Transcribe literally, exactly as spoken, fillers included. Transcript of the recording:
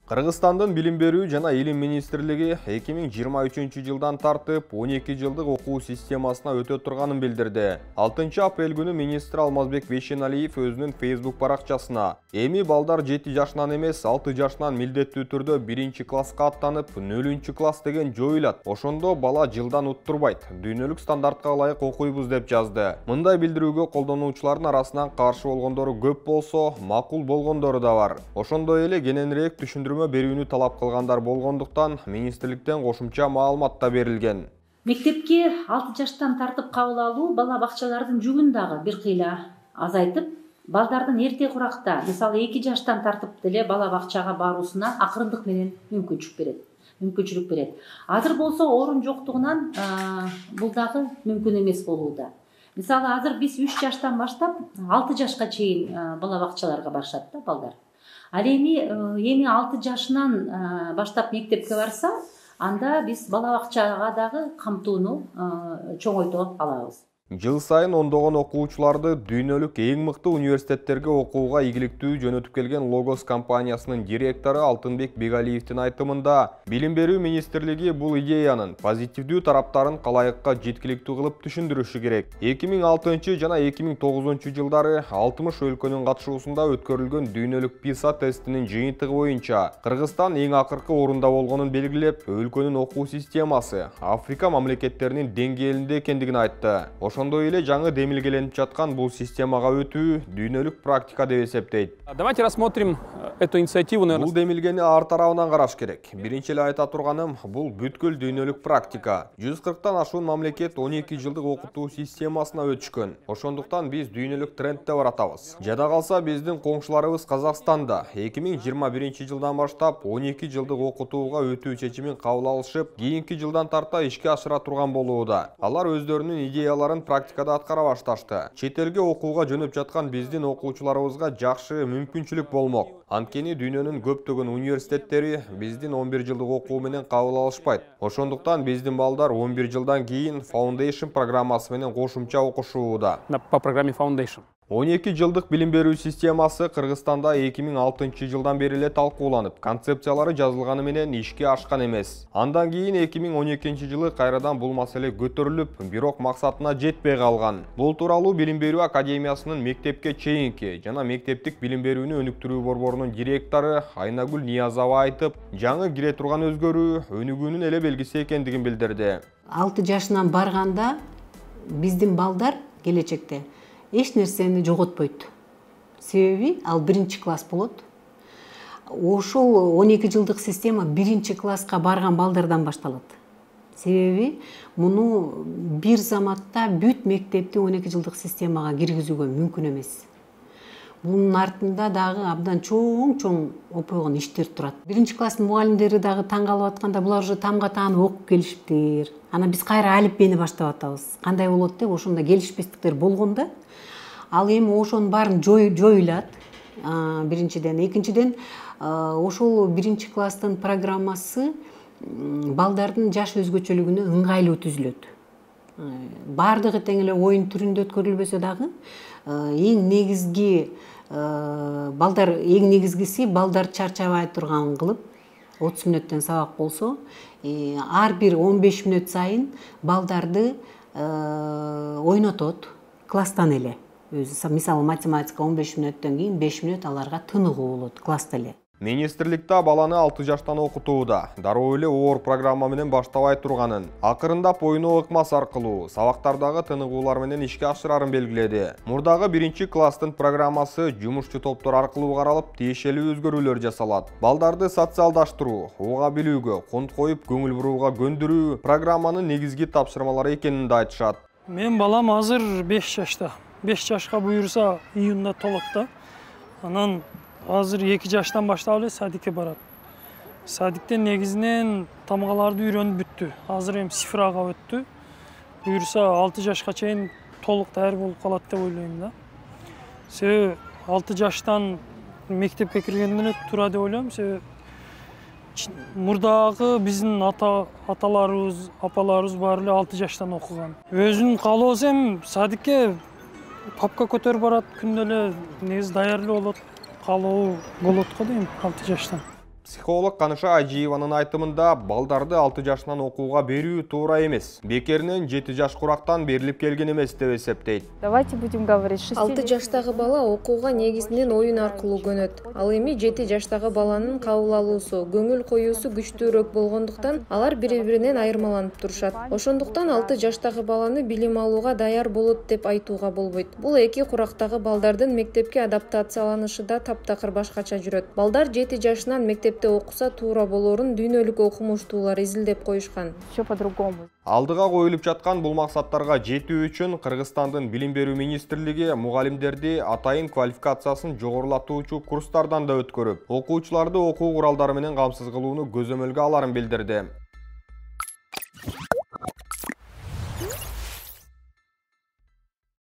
Кыргызстандын билим берүү жана илим министрлиги эки миң жыйырма үчүнчү жылдан тартып он эки жылдык окуу системасына өтө турганын билдирди. алтынчы апрель күнү министр Алмазбек Бейшеналиев өзүнүн Facebook баракчасына эми балдар жети жашынан эмес алты жашынан милдеттүү түрдө биринчи класска аттанып, нөлүнчү класс деген жоюлат. Ошондо бала жылдан уттурбайт, дүйнөлүк стандартка ылайык окуйбуз деп жазды. Мындай билдирүүгө колдонуучулардын арасынан каршы болгондору көп болсо, макул болгондору да бар. Ошондой эле кененирээк түшүндүрмө берүүнү талап кылгандар болгондуктан министрликтен кошумча маалымат да берилген. Мектепке алты жаштан тартып кабыл алуу бала бакчалардын жүгүн дагы бир кыйла азайтып, балдардын эрте куракта, мисалы эки жаштан тартып деле бала бакчага баруусуна акырындык менен мүмкүнчүлүк берет. мүмкүнчүлүк берет. Азыр болсо орун жоктугунан бул дагы мүмкүн эмес болууда. Мисалы азыр биз үч жаштан баштап алты жашка чейин бала бакчаларга барышат да балдар. Ал эми эми алты жашынан баштап мектепке барса, анда биз бала бакчага дагы камтууну чоңойто алабыз. Жыл сайын ондогон окуучуларды дүйнөлүк эң мыкты университеттерге окууга ийгиликтүү жөнөтүп келген Logos компаниясынын директору Алтынбек Бегалиевдин айтымында, билим берүү министрлиги бул идеянын позитивдүү тараптарын калайыкка жеткиликтүү кылып түшүндүрүшү керек. эки миң алтынчы жана эки миң тогузунчу жылдары алтымыш өлкөнүн катышуусунда өткөрүлгөн дүйнөлүк PISA тестинин жыйынтыгы боюнча Кыргызстан эң акыркы орунда болгонун белгилеп, өлкөнүн окуу системасы Африка мамлекеттеринин деңгээлинде экендигин айтты. Ошондой эле жаңы демилгеленип жаткан бул системага өтүү дүйнөлүк практика деп эсептейт. Давайте рассмотрим эту инициативу, наверное. Бул демилгени ар тарабынан караш керек. Биринчи эле айта турганым, бул бүткүл дүйнөлүк практика. жүз кырктан ашуун мамлекет он эки жылдык окутуу системасына өтүшкөн. Ошондуктан биз дүйнөлүк трендте баратабыз. Жада калса биздин коңшуларыбыз Казакстанда эки миң жыйырма биринчи жылдан баштап он эки жылдык окутууга өтүү чечимин кабыл алышып, кийинки жылдан тарта ишке ашыра турган болууда. Алар өздөрүнүн идеяларын практикада аткара башташты. Чет элге окууга жөнөп жаткан биздин окуучуларыбызга жакшы мүмкүнчүлүк болмок. Анткени дүйнөнүн көптөгөн университеттери биздин он бир жылдык окуу менен кабыл алышпайт. Ошондуктан биздин балдар он бир жылдан кийин Foundation программасы менен кошумча окушууда. По программе Foundation. он эки жылдык билим берүү системасы Кыргызстанда эки миң алтынчы жылдан бери эле талкууланып, концепциялары жазылганы менен ишке ашкан эмес. Андан кийин эки миң он экинчи жылы кайрадан бул маселе көтөрүлүп, бирок максатына жетпей калган. Бул тууралуу Билим берүү академиясынын мектепке чейинки жана мектептик билим берүүнү өнүктүрүү борборунун директору Айнагүл Ниязова айтып, жаңы кире турган өзгөрүү өнүгүүнүн эле белгиси экендигин билдирди. алты жашынан барганда биздин балдар келечекте эч нерсени жоготпойт. Себеби ал биринчи класс болот. Ошол он эки жылдык система биринчи класска барган балдардан башталат. Себеби муну бир заматта бүт мектепти он эки жылдык системага киргизүүгө мүмкүн эмес. Бунун артында дагы абдан чоң-чоң опойгон иштер турат. Биринчи класстын мугалимдери дагы таң калып атканда, булар уже тамга таанып окуп келишиптир. Ана биз кайра алипбени баштап атабыз. Кандай болот деп ошондо келишпестиктер болгондо, ал эми ошонун баарын жоюлат. Биринчиден, экинчиден, ошол биринчи класстын программасы балдардын жаш өзгөчөлүгүнө ыңгайлуу түзүлөт. Бардыгы тең эле оюн түрүндө өткөрүлбөсө дагы, эң негизги балдар эң негизгиси балдар чарчабай турган кылып, отуз мүнөттөн сабак болсо, ар бир он беш мүнөт сайын балдарды ойнотот класстан эле. Мисалы математика он беш мүнөттөн кийин беш мүнөт аларга тыныгуу болот класста эле. Министрликте баланы алты жаштан окутууда. Дароо эле оор программа менен баштабай турганын, акырындап ойноо ыкмасы аркылуу сабактардагы тыныгуулар менен ишке ашырарын белгиледи. Мурдагы биринчи класстын программасы жумушчу топтор аркылуу каралып, тиешелүү өзгөрүүлөр жасалат. Балдарды социалдаштыруу, уга билүүгө, конт коюп көңүл бурууга көндүрүү программанын негизги тапшырмалары экенин да айтышат. Мен балам азыр беш жашта. беш жашка буюрса июнда толот да. Анан азыр эки жаштан баштап эле садикке барат. Садиктен негизинен тамгаларды үйрөнүп бүттү. Азыр эми цифрага өттү. Буюрса алты жашка чейин толук даяр болуп калат деп ойлойм да. Себеби алты жаштан мектепке киргенден эле туура деп ойлойм. Себеби мурдагы биздин ата аталарыбыз, апаларыбыз баары эле алты жаштан окуган. Өзүнүн каалоосу эми садикке папка көтөрүп барат, күндө эле негизи даяр эле болот, каалоо болот го дейм алты жаштан. Психолог Каныша Ажиеванын айтымында балдарды алты жашынан окууга берүү туура эмес. Бекеринен жети жаш курактан берилип келген эмес деп эсептейт. Давайте будем говорить, алты жаштагы бала окууга негизинен оюн аркылуу көнөт. Ал эми жети жаштагы баланын кабыл алуусу, көңүл коюусу күчтүүрөөк болгондуктан алар бири-биринен айырмаланып турушат. Ошондуктан алты жаштагы баланы билим алууга даяр болот деп айтууга болбойт. Бул эки курактагы балдардын мектепке адаптацияланышы да таптакыр башкача жүрөт. Балдар жети жашынан мектеп окуса туура болорун дүйнөлүк окумуштуулар изилдеп коюшкан. Все по-другому. Алдыга коюлуп жаткан бул максаттарга жетүү үчүн Кыргызстандын Билим берүү министрлиги мугалимдерди атайын квалификациясын жогорулатуучу курстардан да өткөрүп, окуучуларды окуу куралдары менен камсыз кылууну көзөмөлгө аларын билдирди.